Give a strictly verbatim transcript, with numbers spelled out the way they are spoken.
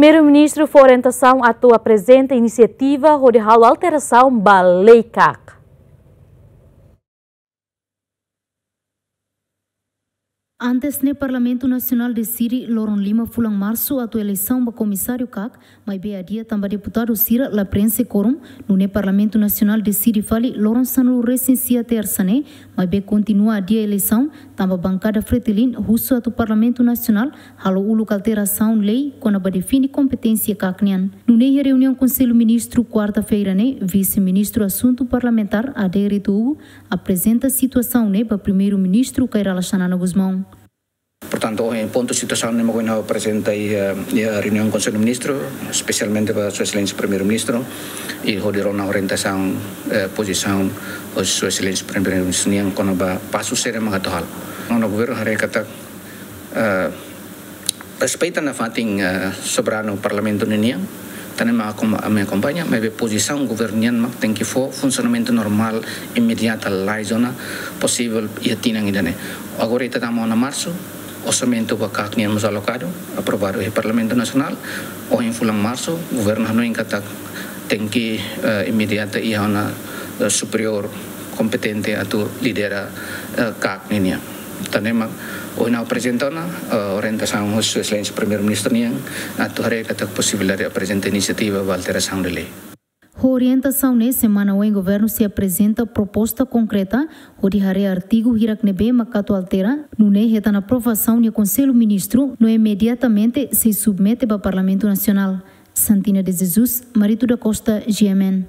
Primeiru-Ministru fó orientasaun atu aprezenta inisiativa hodi halo alterasaun ba lei kak. Antes ne'e Parlamentu Nasionál deside loron lima fulan Marsu atu eleisaun ba komisáriu kak, maibé adia tanba deputadu sira la prenxe kórum, nune'e Parlamentu Nasionál deside fali loron sanulu resin sia Tersa ne'e, maibé kontinua adia eleisaun, tanba bankada Fretilin husu atu Parlamentu Nasionál halo uluk alterasaun lei kona-ba define kompeténsia kak nian. Nune'e iha reuniaun Konsellu Ministru kuarta-feira ne'e, Vise-Ministru Asuntu Parlamentár Adérito Hugo aprezenta situasaun ne'e ba Primeiru-Ministru Kay Rala Xanana Gusmão. Portantu, ohin pontu situasaun ne'e mak ohin ha'u aprezenta iha, iha reuniaun Konsellu Ministru, espesialmente ba Sua Exelénsia Primeiru-Ministru, i hodi rona orientasaun, eh, pozisaun husi Sua Exelénsia Primeiru-Ministru nian kona-ba pasu saida mak atu halo. Nona governu haree katak, eh, respeita nafatin, eh, soberanu Parlamentu ninian, tan ne'e mak akom-, ami akompaña, maibé pozisaun governu nian mak tenke fó funsionamentu normál, imediata, lais ona, posivel iha tinan ida-ne'e. Agora ita tama ona Marsu, orsamentu ba kak nian mós alokadu, aprovadu iha Parlamentu Nasionál, ohin fulan Marsu, governu hanoin katak tenke, eh, imediata iha ona, eh, superiór kompetente atu lidera, eh, kak ninian. Tan ne'e mak ohin ha'u aprezenta ona, eh, orientasaun husi Sua Exelénsia Primeiru-Ministru nian, atu haree katak posibilidade aprezenta inisiativa ba alterasaun de lei. Ho orientasaun ne'e, semana oin governu sei aprezenta proposta konkreta hodi haree artigu hirak ne'ebé mak atu altera, nune'e hetan aprovasaun iha Konsellu Ministru, no imediatamente sei submete ba Parlamentu Nasionál. Santina de Jesus, Marito da Costa, G M N.